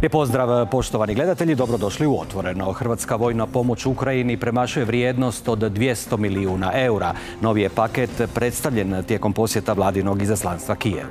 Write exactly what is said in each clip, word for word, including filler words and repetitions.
Lijep pozdrav, poštovani gledatelji, dobrodošli u Otvoreno. Hrvatska vojna pomoć Ukrajini premašuje vrijednost od dvjesto milijuna eura. Novi je paket predstavljen tijekom posjeta vladinog izaslanstva Kijevu.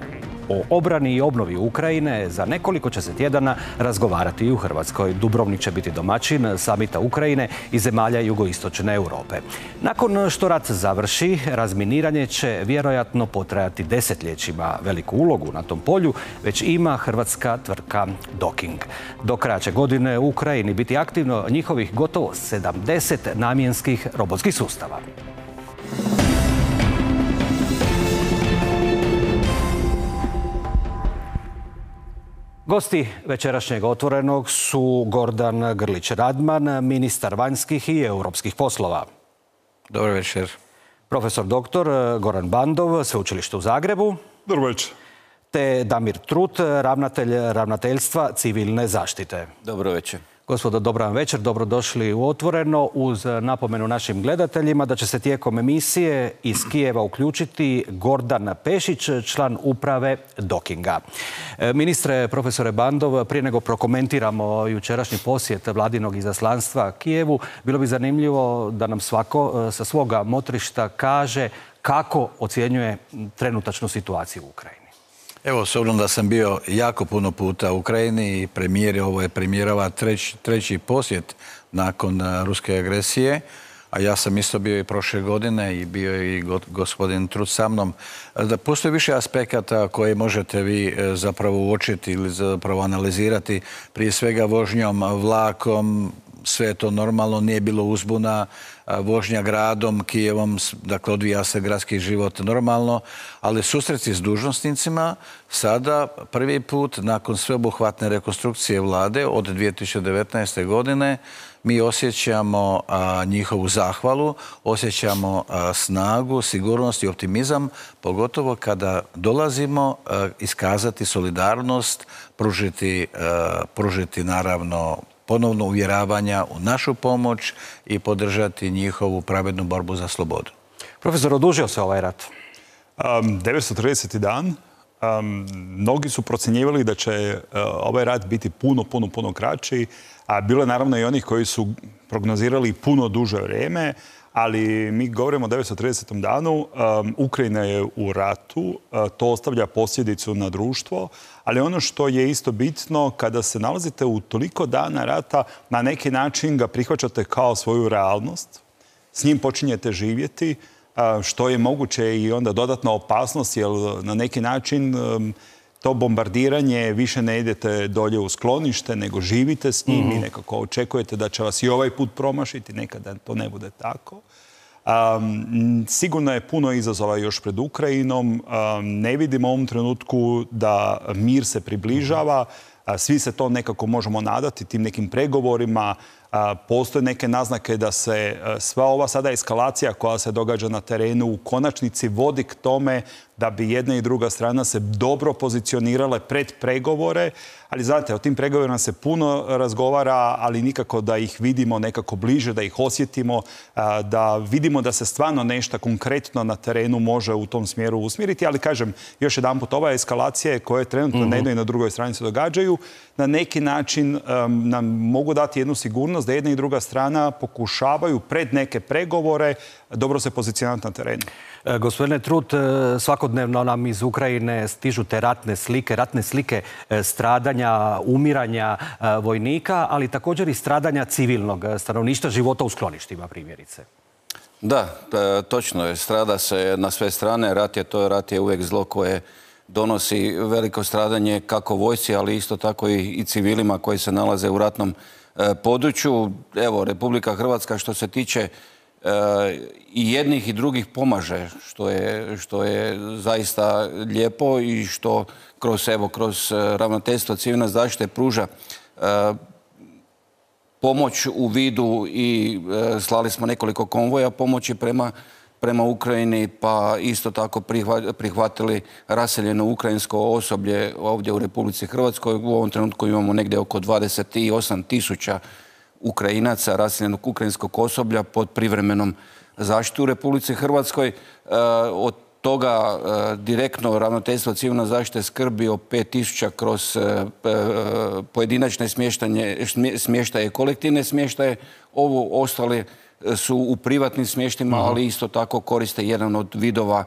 O obrani i obnovi Ukrajine za nekoliko će se tjedana razgovarati i u Hrvatskoj. Dubrovnik će biti domaćin samita Ukrajine i zemalja jugoistočne Europe. Nakon što rat završi, razminiranje će vjerojatno potrajati desetljećima. Veliku ulogu na tom polju već ima hrvatska tvrtka Docking. Do kraja će godine u Ukrajini biti aktivno njihovih gotovo sedamdeset namjenskih robotskih sustava. Gosti večerašnjeg Otvorenog su Gordan Grlić-Radman, ministar vanjskih i europskih poslova. Dobar večer. Profesor doktor Goran Bandov, Sveučilište u Zagrebu. Dobar večer. Te Damir Trut, ravnatelj Ravnateljstva civilne zaštite. Dobro večer. Gospodo, dobar vam večer, dobrodošli u Otvoreno, uz napomenu našim gledateljima da će se tijekom emisije iz Kijeva uključiti Gordan Pešić, član uprave Dockinga. Ministre, profesore Bandov, prije nego prokomentiramo jučerašnji posjet vladinog izaslanstva Kijevu, bilo bi zanimljivo da nam svako sa svoga motrišta kaže kako ocjenjuje trenutačnu situaciju u Ukrajini. Evo, s obzirom da sam bio jako puno puta u Ukrajini i premijer, ovo je premijerova treći, treći posjet nakon ruske agresije, a ja sam isto bio i prošle godine i bio i gospodin Trut sa mnom, da postoji više aspekata koje možete vi zapravo uočiti ili zapravo analizirati, prije svega vožnjom vlakom. Sve je to normalno, nije bilo uzbuna, vožnja gradom, Kijevom, dakle odvija se gradski život normalno, ali susreti s dužnosnicima sada prvi put nakon sveobuhvatne rekonstrukcije vlade od dvije tisuće devetnaeste. godine mi osjećamo a, njihovu zahvalu, osjećamo a, snagu, sigurnost i optimizam, pogotovo kada dolazimo a, iskazati solidarnost, pružiti, a, pružiti naravno ponovno uvjeravanja u našu pomoć i podržati njihovu pravednu borbu za slobodu. Profesor, odužio se ovaj rat? Um, devetsto trideseti dan. Um, mnogi su procjenjivali da će uh, ovaj rat biti puno, puno, puno kraći. A bilo je naravno i onih koji su prognozirali puno duže vrijeme, ali mi govorimo o devetsto tridesetom danu. Um, Ukrajina je u ratu, uh, to ostavlja posljedicu na društvo, ali ono što je isto bitno, kada se nalazite u toliko dana rata, na neki način ga prihvaćate kao svoju realnost, s njim počinjete živjeti, uh, što je moguće i onda dodatna opasnost, jer na neki način um, to bombardiranje, više ne idete dolje u sklonište, nego živite s njim i nekako očekujete da će vas i ovaj put promašiti, nekada to ne bude tako. Um, sigurno je puno izazova još pred Ukrajinom. Um, ne vidimo u ovom trenutku da mir se približava. Uh, svi se to nekako možemo nadati tim nekim pregovorima. Uh, postoje neke naznake da se uh, sva ova sada eskalacija koja se događa na terenu u konačnici vodi k tome da bi jedna i druga strana se dobro pozicionirale pred pregovore. Ali znate, o tim pregovorima se puno razgovara, ali nikako da ih vidimo nekako bliže, da ih osjetimo, da vidimo da se stvarno nešto konkretno na terenu može u tom smjeru usmjeriti. Ali kažem, još jedanput, ova eskalacija koje trenutno mm-hmm. na jednoj i na drugoj strani se događaju, na neki način um, nam mogu dati jednu sigurnost da jedna i druga strana pokušavaju pred neke pregovore dobro se pozicionirati na terenu. E, gospodine Trut, svakodnevno nam iz Ukrajine stižu te ratne slike, ratne slike stradanja, umiranja vojnika, ali također i stradanja civilnog stanovništva, života u skloništima primjerice. Da, točno je. Strada se na sve strane. Rat je to, rat je uvijek zlo koje donosi veliko stradanje kako vojsci, ali isto tako i, i civilima koji se nalaze u ratnom e, području. Evo, Republika Hrvatska što se tiče e, i jednih i drugih pomaže, što je, što je zaista lijepo i što kroz, evo, kroz Ravnateljstvo civilne zaštite pruža e, pomoć u vidu i e, slali smo nekoliko konvoja pomoći prema prema Ukrajini, pa isto tako prihvatili raseljeno ukrajinsko osoblje ovdje u Republici Hrvatskoj. U ovom trenutku imamo negdje oko dvadeset osam tisuća Ukrajinaca raseljenog ukrajinskog osoblja pod privremenom zaštitu u Republici Hrvatskoj. Od toga direktno ravnateljstvo civilne zaštite skrbi o pet tisuća kroz pojedinačne smještaje i kolektivne smještaje. Ovo ostale su u privatnim smještima, ali isto tako koriste jedan od vidova,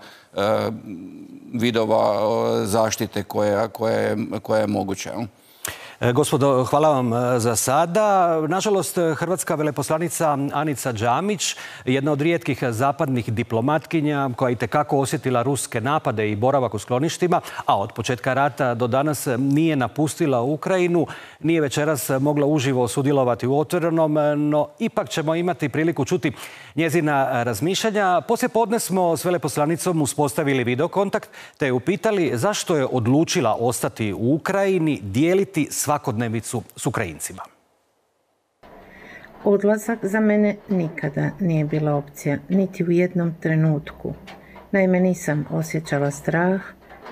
vidova zaštite koja, koja, je, koja je moguća. Gospodo, hvala vam za sada. Nažalost, hrvatska veleposlanica Anica Džamić, jedna od rijetkih zapadnih diplomatkinja koja je itekako osjetila ruske napade i boravak u skloništima, a od početka rata do danas nije napustila Ukrajinu, nije večeras mogla uživo sudjelovati u Otvorenom, no ipak ćemo imati priliku čuti njezina razmišljanja. Poslije podne smo s veleposlanicom uspostavili videokontakt te je upitali zašto je odlučila ostati u Ukrajini, dijeliti svakodnevicu s Ukrajincima. Odlazak za mene nikada nije bila opcija, niti u jednom trenutku. Naime, nisam osjećala strah,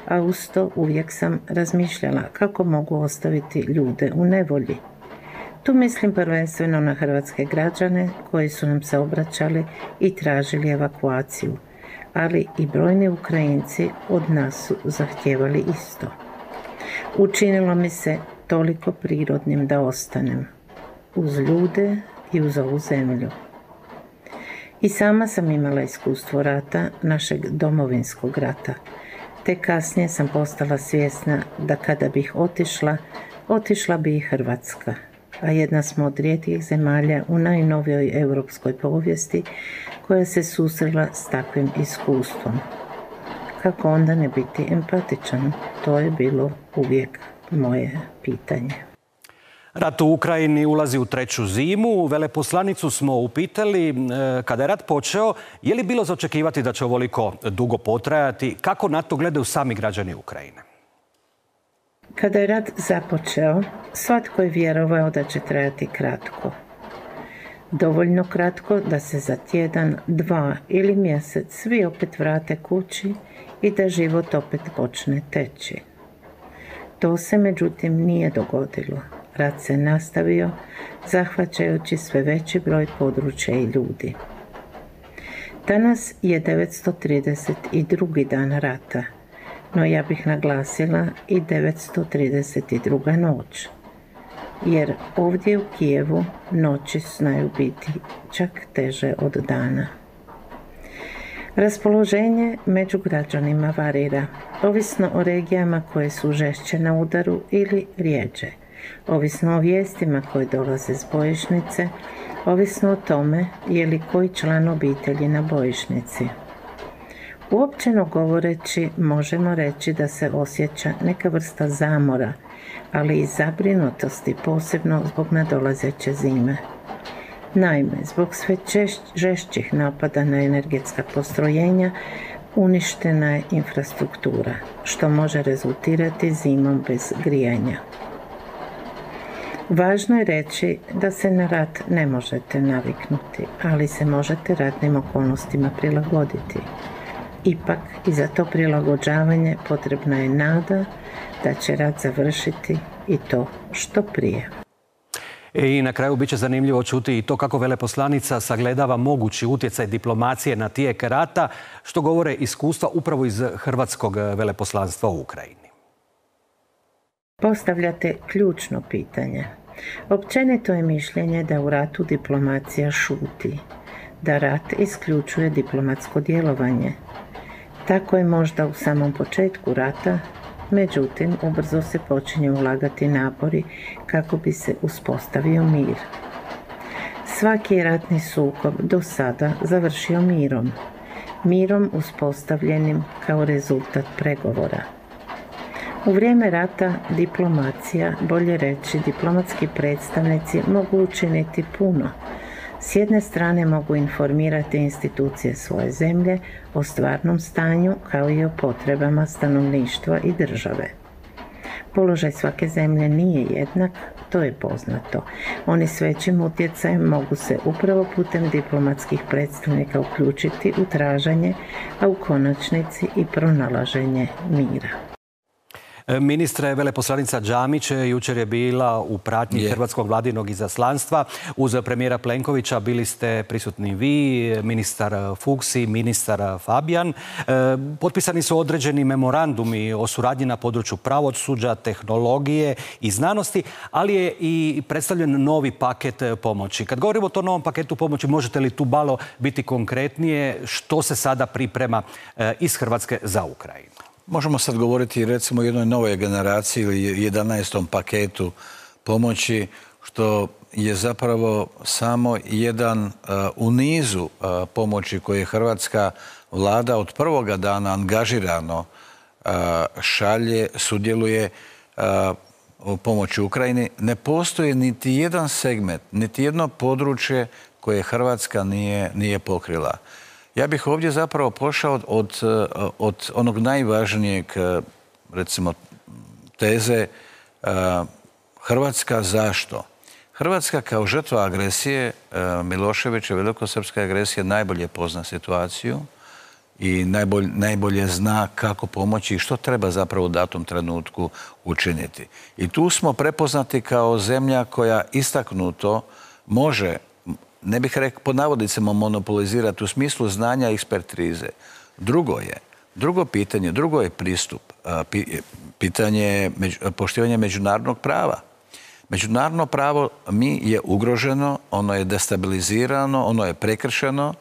a uz to uvijek sam razmišljala kako mogu ostaviti ljude u nevolji. Tu mislim prvenstveno na hrvatske građane koji su nam se obraćali i tražili evakuaciju, ali i brojni Ukrajinci od nas su zahtijevali isto. Učinilo mi se toliko prirodnim da ostanem uz ljude i uz ovu zemlju. I sama sam imala iskustvo rata, našeg domovinskog rata, te kasnije sam postala svjesna da kada bih otišla, otišla bi i Hrvatska, a jedna smo od rijetkih zemalja u najnovijoj europskoj povijesti koja se susrela s takvim iskustvom. Kako onda ne biti empatičan? To je bilo uvijek moje pitanje. Rat u Ukrajini ulazi u treću zimu. Veleposlanicu smo upitali kada je rat počeo, je li bilo za očekivati da će ovoliko dugo potrajati? Kako na to gledaju sami građani Ukrajine? Kada je rat započeo, svatko je vjerovao da će trajati kratko. Dovoljno kratko da se za tjedan, dva ili mjesec svi opet vrate kući i da život opet počne teći. To se međutim nije dogodilo. Rat se nastavio, zahvaćajući sve veći broj područja i ljudi. Danas je devetsto trideset drugi dan rata, no ja bih naglasila i devetsto trideset druga noć. Jer ovdje u Kijevu noći znaju biti čak teže od dana. Raspoloženje među građanima varira, ovisno o regijama koje su žešće na udaru ili rijeđe, ovisno o vijestima koje dolaze s bojišnice, ovisno o tome je li koji član obitelji na bojišnici. Uopćeno govoreći, možemo reći da se osjeća neka vrsta zamora, ali i zabrinutosti, posebno zbog nadolazeće zime. Naime, zbog sve žešćih napada na energetska postrojenja uništena je infrastruktura, što može rezultirati zimom bez grijanja. Važno je reći da se na rat ne možete naviknuti, ali se možete ratnim okolnostima prilagoditi. Ipak, i za to prilagođavanje potrebna je nada da će rat završiti i to što prije. I na kraju bit će zanimljivo čuti i to kako veleposlanica sagledava mogući utjecaj diplomacije na tijek rata, što govore iskustva upravo iz hrvatskog veleposlanstva u Ukrajini. Postavljate ključno pitanje. Općenito je mišljenje da u ratu diplomacija šuti, da rat isključuje diplomatsko djelovanje. Tako je možda u samom početku rata, međutim, ubrzo se počinje ulagati napori kako bi se uspostavio mir. Svaki je ratni sukob do sada završio mirom, mirom uspostavljenim kao rezultat pregovora. U vrijeme rata diplomacija, bolje reći diplomatski predstavnici, mogu učiniti puno. S jedne strane mogu informirati institucije svoje zemlje o stvarnom stanju kao i o potrebama stanovništva i države. Položaj svake zemlje nije jednak, to je poznato. Oni s većim utjecajem mogu se upravo putem diplomatskih predstavnika uključiti u traženje, a u konačnici i pronalaženje mira. Ministre, veleposlanica Džamić jučer je bila u pratnji je. Hrvatskog vladinog izaslanstva. Uz premijera Plenkovića bili ste prisutni vi, ministar Fuchs, ministar Fabijan. Potpisani su određeni memorandumi o suradnji na području pravosuđa, tehnologije i znanosti, ali je i predstavljen novi paket pomoći. Kad govorimo o tom novom paketu pomoći, možete li tu malo biti konkretnije što se sada priprema iz Hrvatske za Ukrajinu? Možemo sad govoriti recimo o jednoj novoj generaciji ili jedanaestom paketu pomoći, što je zapravo samo jedan uh, u nizu uh, pomoći koje je hrvatska vlada od prvoga dana angažirano uh, šalje, sudjeluje uh, u pomoći Ukrajini. Ne postoji niti jedan segment, niti jedno područje koje Hrvatska nije, nije pokrila. Ja bih ovdje zapravo pošao od, od onog najvažnijeg, recimo, teze Hrvatska zašto? Hrvatska kao žrtva agresije, Miloševića, velikosrpske agresije, najbolje pozna situaciju i najbolje, najbolje zna kako pomoći i što treba zapravo u datom trenutku učiniti. I tu smo prepoznati kao zemlja koja istaknuto može, ne bih rekao pod navodnicima monopolizirati u smislu znanja i ekspertize. Drugo je, drugo pitanje, drugo je pristup, pitanje poštivanja međunarodnog prava. Međunarodno pravo mi je ugroženo, ono je destabilizirano, ono je prekršeno.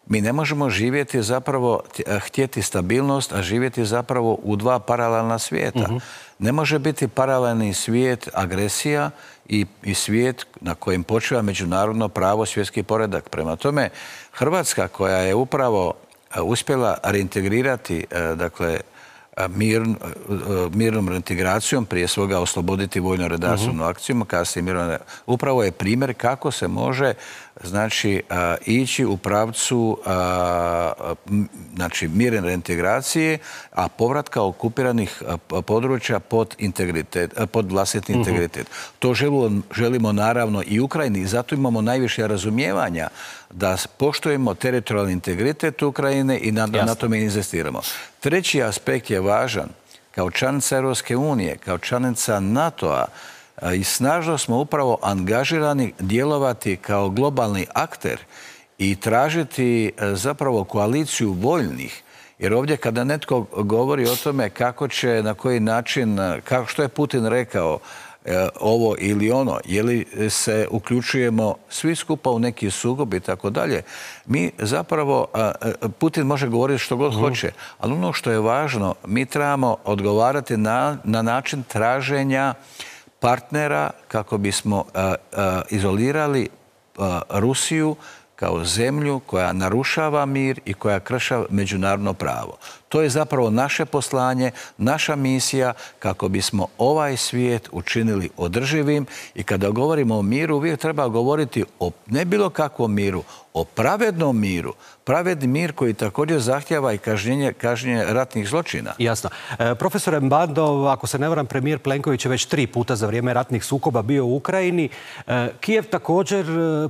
Mi ne možemo živjeti zapravo, htjeti stabilnost, a živjeti zapravo u dva paralelna svijeta. Uh-huh. Ne može biti paralelni svijet agresija i, i svijet na kojem počiva međunarodno pravo, svjetski poredak. Prema tome, Hrvatska koja je upravo uspjela reintegrirati, dakle, Mir, mirnom reintegracijom, prije svega osloboditi vojno-redarstvenu uh-huh. akciju, kasnije mirno, upravo je primjer kako se može, znači, a, ići u pravcu a, znači, mirne reintegracije, a povratka okupiranih a, područja pod, integritet, a, pod vlastitni uh-huh. integritet. To želimo, želimo naravno i Ukrajini i zato imamo najviše razumijevanja da poštujemo teritorijalni integritet Ukrajine i na, na tome inzistiramo. Treći aspekt je važan. Kao članica Europske unije, kao članica NATO-a i snažno smo upravo angažirani djelovati kao globalni akter i tražiti zapravo koaliciju voljnih. Jer ovdje kada netko govori o tome kako će, na koji način, kako, što je Putin rekao, ovo ili ono, je li se uključujemo svi skupa u neki sukob i tako dalje. Mi zapravo, Putin može govoriti što god hoće, ali ono što je važno, mi trebamo odgovarati na, na način traženja partnera kako bismo a, a, izolirali a, Rusiju kao zemlju koja narušava mir i koja krši međunarodno pravo. To je zapravo naše poslanje, naša misija kako bismo ovaj svijet učinili održivim i kada govorimo o miru, uvijek treba govoriti o ne bilo kakvom miru, o pravednom miru. Pravedni mir koji također zahtjeva i kažnjenje, kažnjenje ratnih zločina. Jasno. E, profesore Mbandov, ako se ne varam, premijer Plenković je već tri puta za vrijeme ratnih sukoba bio u Ukrajini. E, Kijev također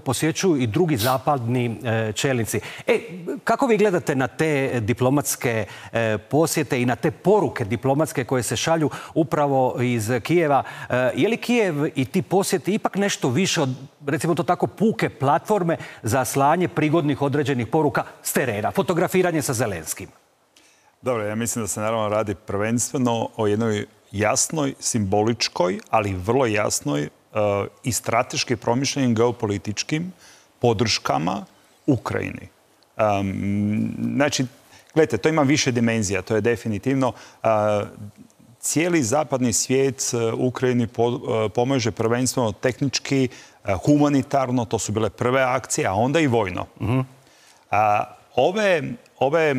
posjećuju i drugi zapadni e, čelnici. E, kako vi gledate na te diplomatske e, posjete i na te poruke diplomatske koje se šalju upravo iz Kijeva? E, je li Kijev i ti posjeti ipak nešto više od, recimo to tako, puke platforme za slanje prigodnih određenih poruka s terena, fotografiranje sa Zelenskim? Dobro, ja mislim da se naravno radi prvenstveno o jednoj jasnoj, simboličkoj, ali vrlo jasnoj uh, i strateški promišljenim geopolitičkim podrškama Ukrajini. Um, znači, gledajte, to ima više dimenzija, to je definitivno. Uh, cijeli zapadni svijet Ukrajini po, uh, pomaže prvenstveno tehnički, uh, humanitarno, to su bile prve akcije, a onda i vojno. Uh-huh. A ove, ove,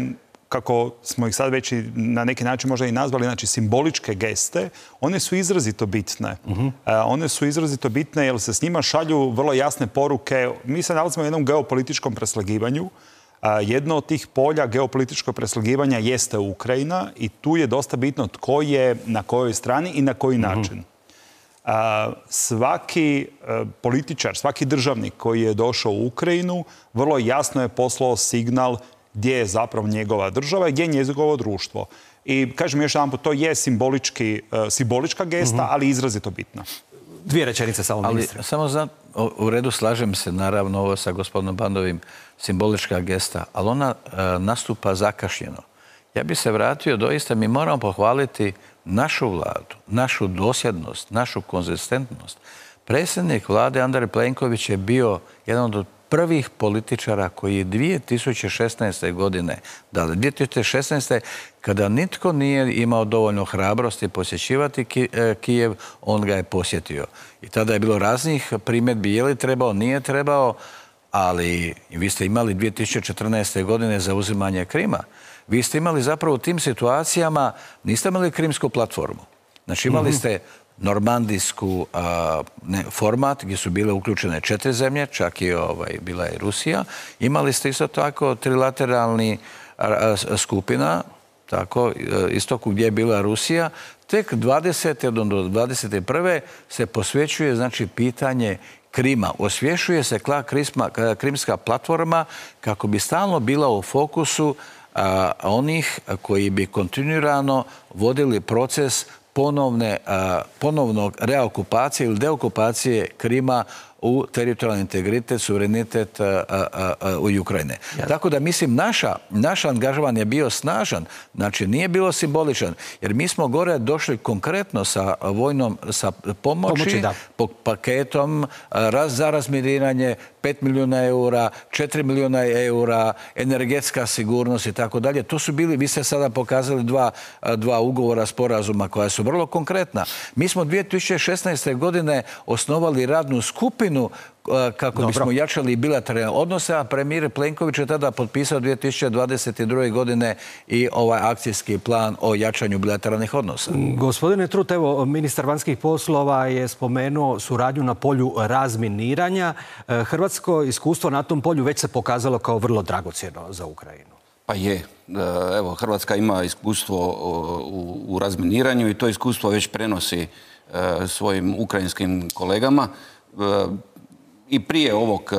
kako smo ih sad već i na neki način možda i nazvali, znači simboličke geste, one su izrazito bitne. Uh-huh. A, one su izrazito bitne jer se s njima šalju vrlo jasne poruke. Mi se nalazimo u jednom geopolitičkom preslagivanju. A, jedno od tih polja geopolitičkog preslagivanja jeste Ukrajina i tu je dosta bitno tko je na kojoj strani i na koji uh-huh. način. A, svaki a, političar, svaki državnik koji je došao u Ukrajinu vrlo jasno je poslao signal gdje je zapravo njegova država i gdje je njegovo društvo. I kažem još jedan put, to je simbolički, simbolička gesta, mm-hmm. ali izrazito bitna. Dvije rečenice samo, ministre. Ali samo znam, u redu slažem se naravno ovo sa gospodinom Bandovim, simbolička gesta, ali ona e, nastupa zakašnjeno. Ja bi se vratio, doista mi moramo pohvaliti našu vladu, našu dosljednost, našu konzistentnost. Predsjednik vlade Andrej Plenković je bio jedan od prvih političara koji je dvije tisuće šesnaeste. godine, da li dvije tisuće šesnaeste. kada nitko nije imao dovoljno hrabrosti posjećivati Kijev, on ga je posjetio. I tada je bilo raznih primjedbi, je li trebao, nije trebao, ali vi ste imali dvije tisuće četrnaeste. godine zauzimanje Krima. Vi ste imali zapravo u tim situacijama, niste imali krimsku platformu. Znači imali ste normandijsku a, ne, format gdje su bile uključene četiri zemlje, čak i ovaj, bila je Rusija. Imali ste isto tako trilateralni a, a, skupina, tako, istoku gdje je bila Rusija. Tek dvadesete do dvadeset prve se posvećuje znači pitanje Krima. Osvješuje se krimska, krimska platforma kako bi stalno bila u fokusu a, onih koji bi kontinuirano vodili proces ponovne, a, ponovnog reokupacije ili deokupacije Krima u teritorijalni integritet, suverenitet a, a, a, u Ukrajine. Ja. Tako da mislim naša, naš angažman je bio snažan, znači nije bilo simboličan, jer mi smo gore došli konkretno sa vojnom, sa pomoći, pomoći po paketom raz, za razminiranje pet milijuna eura, četiri milijuna eura, energetska sigurnost i tako dalje. To su bili, vi ste sada pokazali dva, dva ugovora, sporazuma koja su vrlo konkretna. Mi smo dvije tisuće šesnaeste. godine osnovali radnu skupinu kako Dobro. bismo jačali bilateralne odnose, a premijer Plenković je tada potpisao dvije tisuće dvadeset druge. godine i ovaj akcijski plan o jačanju bilateralnih odnosa. Gospodine Trut, evo, ministar vanjskih poslova je spomenuo suradnju na polju razminiranja. Hrvatsko iskustvo na tom polju već se pokazalo kao vrlo dragocjeno za Ukrajinu. Pa je. Evo, Hrvatska ima iskustvo u, u razminiranju i to iskustvo već prenosi svojim ukrajinskim kolegama. I prije ovog,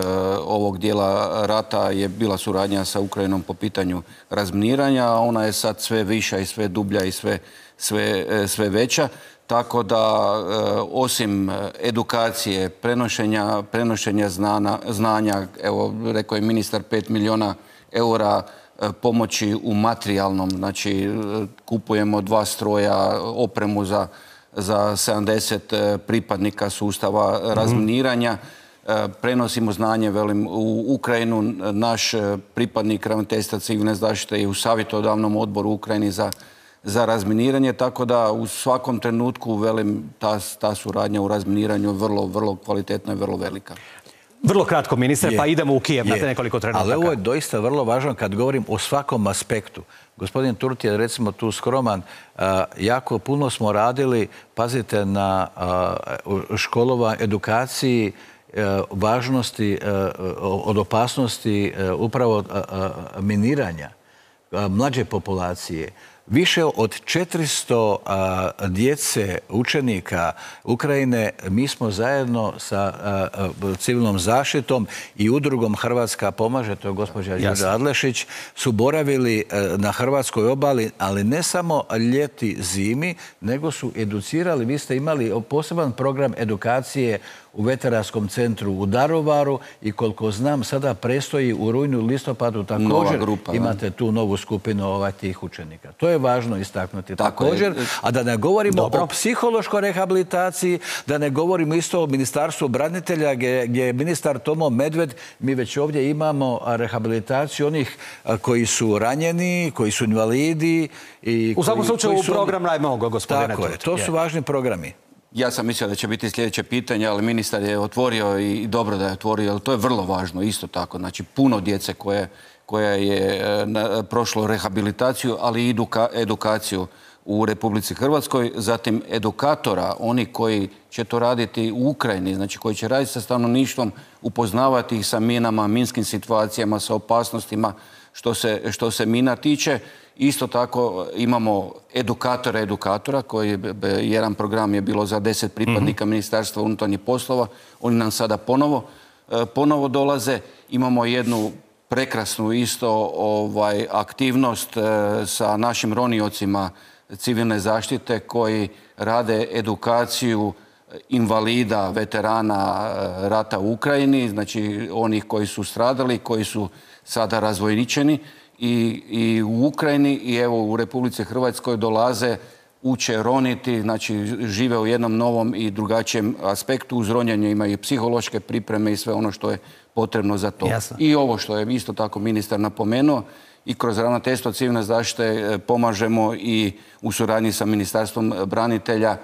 ovog dijela rata je bila suradnja sa Ukrajinom po pitanju razminiranja, a ona je sad sve viša i sve dublja i sve, sve, sve veća. Tako da, osim edukacije, prenošenja, prenošenja znana, znanja, evo, rekao je ministar, pet milijuna eura pomoći u materijalnom, znači kupujemo dva stroja, opremu za za sedamdeset pripadnika sustava razminiranja. Prenosimo znanje, velim, u Ukrajinu. Naš pripadnik Ravnateljstva civilne zaštite je u savjetodavnom odboru u Ukrajini za, za razminiranje, tako da u svakom trenutku, velim, ta, ta suradnja u razminiranju je vrlo, vrlo kvalitetna i vrlo velika. Vrlo kratko, ministre, je, pa idemo u Kijev na nekoliko trenutaka. Ali ovo je doista vrlo važno kad govorim o svakom aspektu. Gospodin Turt je recimo tu skroman. Jako puno smo radili, pazite, na školova, edukaciji, važnosti od opasnosti upravo miniranja mlađe populacije. Više od četiristo a, djece, učenika Ukrajine, mi smo zajedno sa a, a, civilnom zaštitom i udrugom Hrvatska pomaže, to je gospođa Đurđa Adlešić, su boravili a, na hrvatskoj obali, ali ne samo ljeti, zimi, nego su educirali. Vi ste imali poseban program edukacije u veteranskom centru u Daruvaru i koliko znam sada prestoji u rujnu, listopadu također grupa, imate tu novu skupinu ovaj, tih učenika. To je važno istaknuti Tako također. Je. A da ne govorimo Dobro. o psihološkoj rehabilitaciji, da ne govorimo isto o Ministarstvu branitelja gdje, gdje je ministar Tomo Medved. Mi već ovdje imamo rehabilitaciju onih koji su ranjeni, koji su invalidi. I u svakom slučaju su... program najmogo, gospodine Tako je, to su je. važni programi. Ja sam mislio da će biti sljedeće pitanje, ali ministar je otvorio i dobro da je otvorio, ali to je vrlo važno isto tako. Znači, puno djece koje, koja je prošlo rehabilitaciju, ali i eduka, edukaciju u Republici Hrvatskoj. Zatim edukatora, oni koji će to raditi u Ukrajini, znači koji će raditi sa stanovništvom, upoznavati ih sa minama, minskim situacijama, sa opasnostima što se, što se mina tiče. Isto tako imamo edukatora edukatora, koji jedan program je bilo za deset pripadnika mm-hmm. Ministarstva unutarnjih poslova. Oni nam sada ponovo, ponovo dolaze. Imamo jednu prekrasnu isto ovaj, aktivnost sa našim roniocima civilne zaštite koji rade edukaciju invalida, veterana rata u Ukrajini, znači onih koji su stradali, koji su sada razvojničeni i, i u Ukrajini i evo u Republici Hrvatskoj dolaze, uče roniti, znači žive u jednom novom i drugačijem aspektu. Uz ronjanje imaju i psihološke pripreme i sve ono što je potrebno za to. Jasno. I ovo što je isto tako ministar napomenuo, i kroz Ravnateljstvo civilne zaštite pomažemo i u suradnji sa Ministarstvom branitelja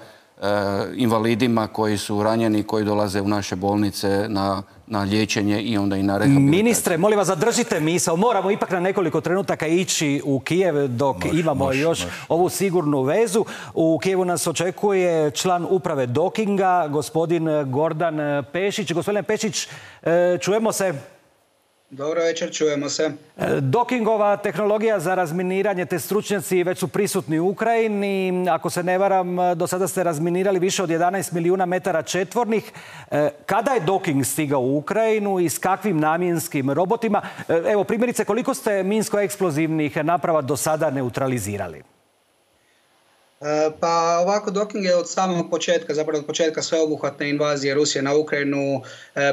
invalidima koji su ranjeni, koji dolaze u naše bolnice na, na liječenje i onda i na rehabilitaciju. Ministre, molim vas, zadržite misao. Moramo ipak na nekoliko trenutaka ići u Kijev dok mož, imamo mož, još mož. ovu sigurnu vezu. U Kijevu nas očekuje član uprave Dokinga, gospodin Gordan Pešić. Gospodine Pešić, čujemo se? Dobro večer, čujemo se. Dokingova tehnologija za razminiranje, te stručnjaci već su prisutni u Ukrajini. Ako se ne varam, do sada ste razminirali više od jedanaest milijuna metara četvornih. Kada je Doking stigao u Ukrajinu i s kakvim namjenskim robotima? Evo, primjerice, koliko ste minsko-eksplozivnih naprava do sada neutralizirali? Pa ovako, Doking je od samog početka, zapravo od početka sveobuhvatne invazije Rusije na Ukrajinu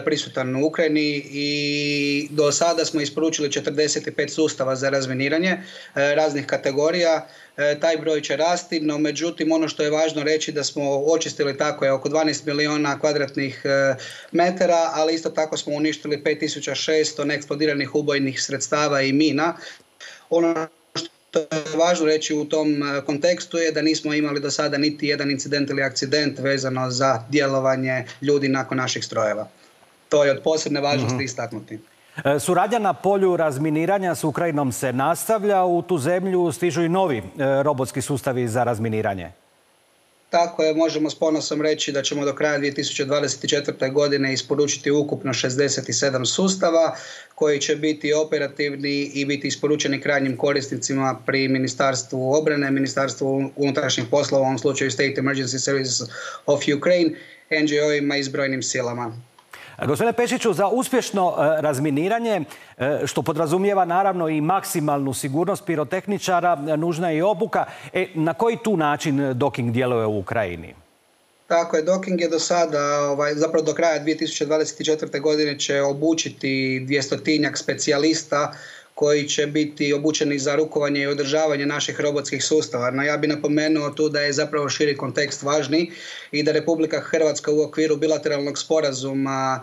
prisutan u Ukrajini i do sada smo isporučili četrdeset pet sustava za razminiranje raznih kategorija. Taj broj će rasti, no međutim ono što je važno reći da smo očistili tako je oko dvanaest milijuna kvadratnih metara, ali isto tako smo uništili pet tisuća šesto neeksplodiranih ubojnih sredstava i mina. Ono što je važno reći u tom kontekstu je da nismo imali do sada niti jedan incident ili akcident vezano za djelovanje ljudi nakon naših strojeva. To je od posebne važnosti mm-hmm. istaknuti. Suradnja na polju razminiranja s Ukrajinom se nastavlja. U tu zemlju stižu i novi robotski sustavi za razminiranje. Tako je, možemo s ponosom reći da ćemo do kraja dvije tisuće dvadeset četvrte. godine isporučiti ukupno šezdeset sedam sustava koji će biti operativni i biti isporučeni krajnjim korisnicima pri Ministarstvu obrane, Ministarstvu unutrašnjih poslova, u ovom slučaju State Emergency Services of Ukraine, N G O-ima i zbrojnim silama. Gospodine Pešiću, za uspješno razminiranje, što podrazumijeva naravno i maksimalnu sigurnost pirotehničara, nužna je i obuka. E, na koji tu način Doking djeluje u Ukrajini? Tako je, Doking je do sada, ovaj, zapravo do kraja dvije tisuće dvadeset četvrte. godine će obučiti dvjestotinjak specijalista koji će biti obučeni za rukovanje i održavanje naših robotskih sustava. No ja bih napomenuo tu da je zapravo širi kontekst važni i da Republika Hrvatska u okviru bilateralnog sporazuma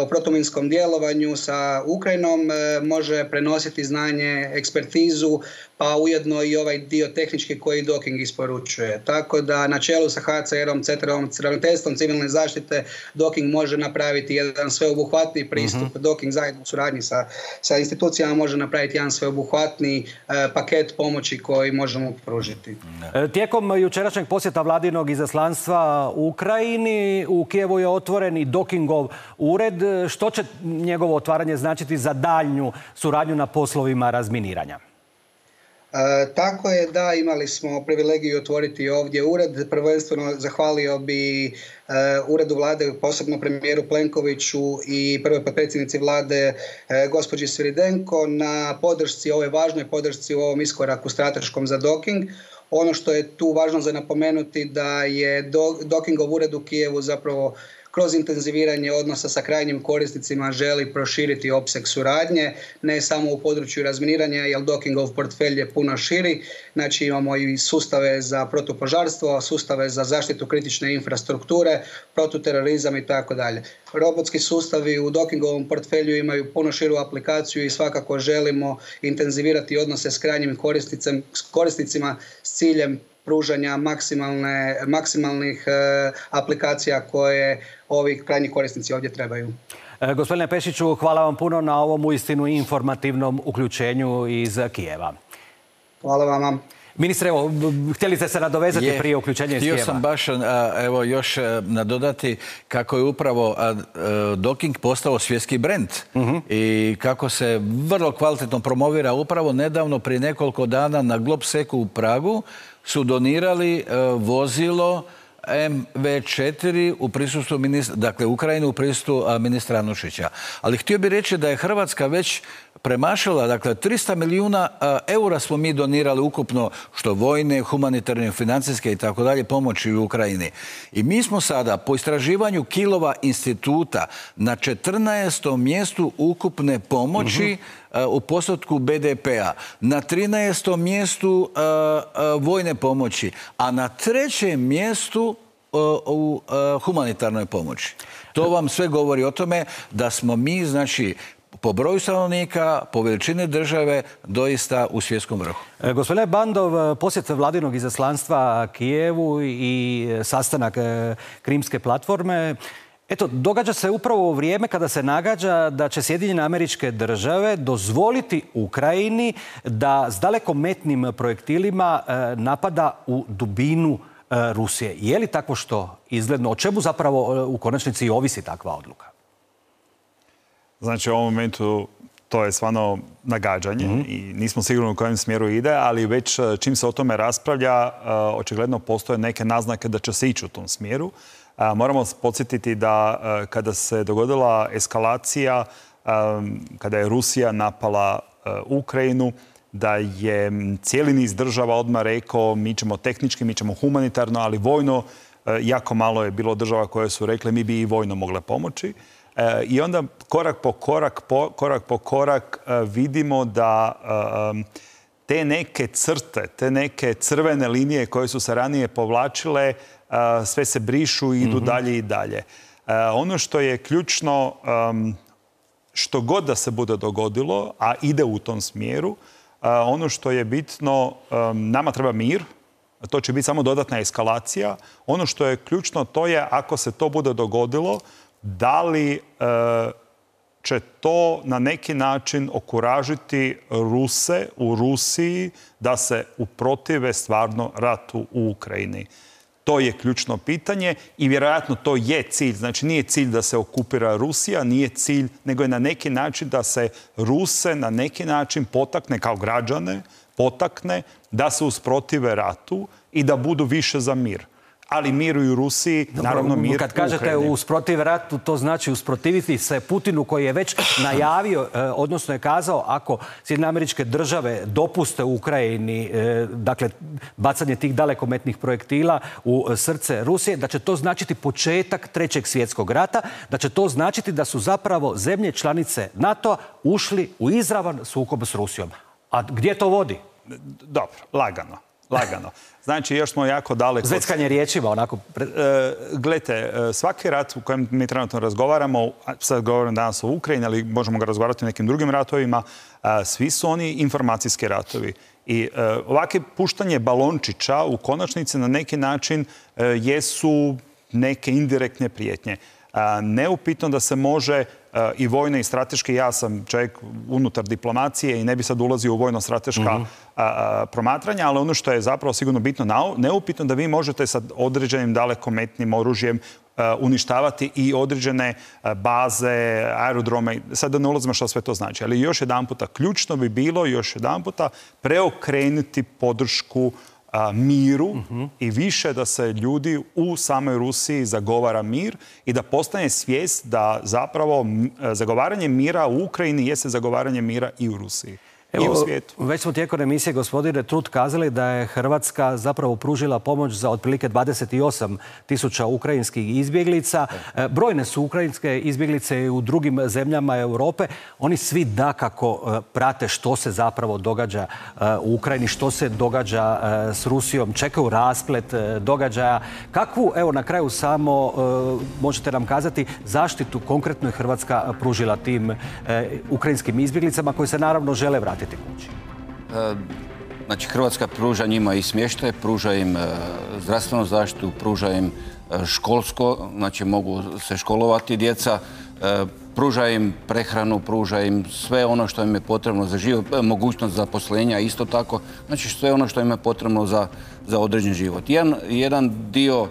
o protuminskom djelovanju sa Ukrajinom može prenositi znanje, ekspertizu, pa ujedno i ovaj dio tehnički koji Doking isporučuje. Tako da na čelu sa H C R-om, C T R-om, Ravnateljstvom civilne zaštite Doking može napraviti jedan sveobuhvatni pristup. Mm-hmm. Doking zajedno u suradnji sa, sa institucijama može napraviti jedan sveobuhvatni eh, paket pomoći koji možemo pružiti. Tijekom jučerašnjeg posjeta vladinog izaslanstva u Ukrajini, u Kijevu je otvoren i Dokingov ured. Što će njegovo otvaranje značiti za daljnju suradnju na poslovima razminiranja? E, tako je, da, imali smo privilegiju otvoriti ovdje ured. Prvenstveno zahvalio bi e, uredu vlade, posebno premijeru Plenkoviću i prvoj potpredsjednici vlade e, gospođi Sviridenko na podršci, ovoj važnoj podršci u ovom iskoraku strateškom za Doking. Ono što je tu važno za napomenuti da je Do, Dokingov ured u Kijevu zapravo kroz intenziviranje odnosa sa krajnjim korisnicima želi proširiti opseg suradnje, ne samo u području razminiranja, jer Dokingov portfelj je puno širi. Znači imamo i sustave za protupožarstvo, sustave za zaštitu kritične infrastrukture, protuterorizam i tako dalje. Robotski sustavi u Dokingovom portfelju imaju puno širu aplikaciju i svakako želimo intenzivirati odnose s krajnjim korisnicima s ciljem pružanja maksimalne, maksimalnih e, aplikacija koje ovi krajnji korisnici ovdje trebaju. E, gospodine Pešiću, hvala vam puno na ovom uistinu informativnom uključenju iz Kijeva. Hvala vama. Ministre, evo, htjeli ste se nadovezati je, prije uključenja iz Kijeva? Htio sam baš evo, još nadodati kako je upravo Doking postao svjetski brend uh-huh. i kako se vrlo kvalitetno promovira. Upravo nedavno, prije nekoliko dana na Globseku u Pragu su donirali vozilo M V četiri u prisustvu ministra, dakle Ukrajinu u prisustvu ministra Anušića. Ali htio bih reći da je Hrvatska već premašila, dakle, trista milijuna eura smo mi donirali ukupno, što vojne, humanitarne, financijske i tako dalje, pomoći u Ukrajini. I mi smo sada, po istraživanju Kilova instituta, na četrnaestom mjestu ukupne pomoći u postotku be de pea, na trinaestom mjestu vojne pomoći, a na trećem mjestu u humanitarnoj pomoći. To vam sve govori o tome da smo mi, znači, po broju stanovnika, po veličini države, doista u svjetskom vrhu. E, gospodine Bandov, posjet vladinog izaslanstva Kijevu i sastanak e, Krimske platforme, eto, događa se upravo u vrijeme kada se nagađa da će Sjedinjene Američke Države dozvoliti Ukrajini da s dalekometnim projektilima e, napada u dubinu e, Rusije. Je li tako što izgledno? O čemu zapravo e, u konačnici ovisi takva odluka? Znači, u ovom momentu to je stvarno nagađanje mm-hmm. i nismo sigurni u kojem smjeru ide, ali već čim se o tome raspravlja, očigledno postoje neke naznake da će se ići u tom smjeru. Moramo podsjetiti da kada se dogodila eskalacija, kada je Rusija napala Ukrajinu, da je cijeli niz država odmah rekao mi ćemo tehnički, mi ćemo humanitarno, ali vojno jako malo je bilo država koje su rekle mi bi i vojno mogle pomoći. I onda korak po korak, po, korak po korak vidimo da te neke crte, te neke crvene linije koje su se ranije povlačile, sve se brišu i idu mm-hmm. dalje i dalje. Ono što je ključno, što god da se bude dogodilo, a ide u tom smjeru, ono što je bitno, nama treba mir, to će biti samo dodatna eskalacija. Ono što je ključno, to je ako se to bude dogodilo, da li e, će to na neki način okuražiti Ruse u Rusiji da se uprotive stvarno ratu u Ukrajini. To je ključno pitanje i vjerojatno to je cilj. Znači nije cilj da se okupira Rusija, nije cilj, nego je na neki način da se Ruse na neki način potakne kao građane, potakne da se usprotive ratu i da budu više za mir. Ali mir u Rusiji, naravno mir u Ukrajini. Kad kažete usprotiv ratu, to znači usprotiviti se Putinu koji je već najavio, odnosno je kazao ako Sjedinjene Američke Države dopuste u Ukrajini, dakle, bacanje tih dalekometnih projektila u srce Rusije, da će to značiti početak Trećeg svjetskog rata, da će to značiti da su zapravo zemlje članice NATO-a ušli u izravan sukob s Rusijom. A gdje to vodi? Dobro, lagano. Lagano. Znači, još smo jako daleko... Zveckanje riječima, onako... E, gledajte, svaki rat u kojem mi trenutno razgovaramo, sad govorim danas o Ukrajini, ali možemo ga razgovarati o nekim drugim ratovima, a, svi su oni informacijski ratovi. I e, ovakve puštanje balončića u konačnici na neki način e, jesu neke indirektne prijetnje. A, neupitno da se može a, i vojno i strateški, ja sam čovjek unutar diplomacije i ne bi sad ulazio u vojno-strateška mm-hmm. promatranja, ali ono što je zapravo sigurno bitno, neupitno da vi možete sa određenim dalekometnim oružjem a, uništavati i određene a, baze, aerodrome. Sad da ne ulazimo što sve to znači. Ali još jedan puta, ključno bi bilo još jedan puta preokrenuti podršku A, miru uh-huh. i više da se ljudi u samoj Rusiji zagovara mir i da postane svijest da zapravo zagovaranje mira u Ukrajini jeste zagovaranje mira i u Rusiji. Evo, i u svijetu. Već smo tijekom emisije, gospodine Trut, kazali da je Hrvatska zapravo pružila pomoć za otprilike dvadeset osam tisuća ukrajinskih izbjeglica. Brojne su ukrajinske izbjeglice i u drugim zemljama Europe. Oni svi dakako prate što se zapravo događa u Ukrajini, što se događa s Rusijom, čekaju rasplet događaja. Kakvu, evo na kraju samo, možete nam kazati, zaštitu konkretno je Hrvatska pružila tim ukrajinskim izbjeglicama koji se naravno žele vratiti kući? Znači, Hrvatska pruža njima i smještaj, pruža im zdravstvenu zaštitu, pruža im školsko, znači mogu se školovati djeca, pruža im prehranu, pruža im sve ono što im je potrebno za život, mogućnost zaposlenja isto tako, znači sve ono što im je potrebno za, za određen život. Jedan, jedan dio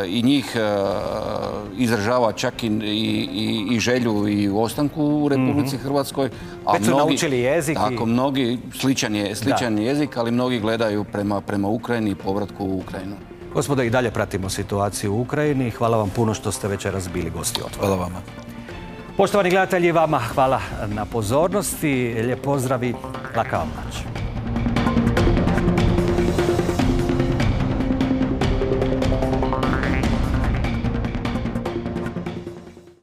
i njih izražava čak i, i, i želju i u ostanku u Republici mm-hmm. Hrvatskoj. A već su mnogi, naučili jezik. Tako, i... mnogi, sličan je, sličan je jezik, ali mnogi gledaju prema, prema Ukrajini i povratku u Ukrajinu. Gospodo, i dalje pratimo situaciju u Ukrajini. Hvala vam puno što ste večeras bili gosti Otvora. Hvala vama. Poštovani gledatelji, vama hvala na pozornosti. Lijep pozdrav i laka vam noć.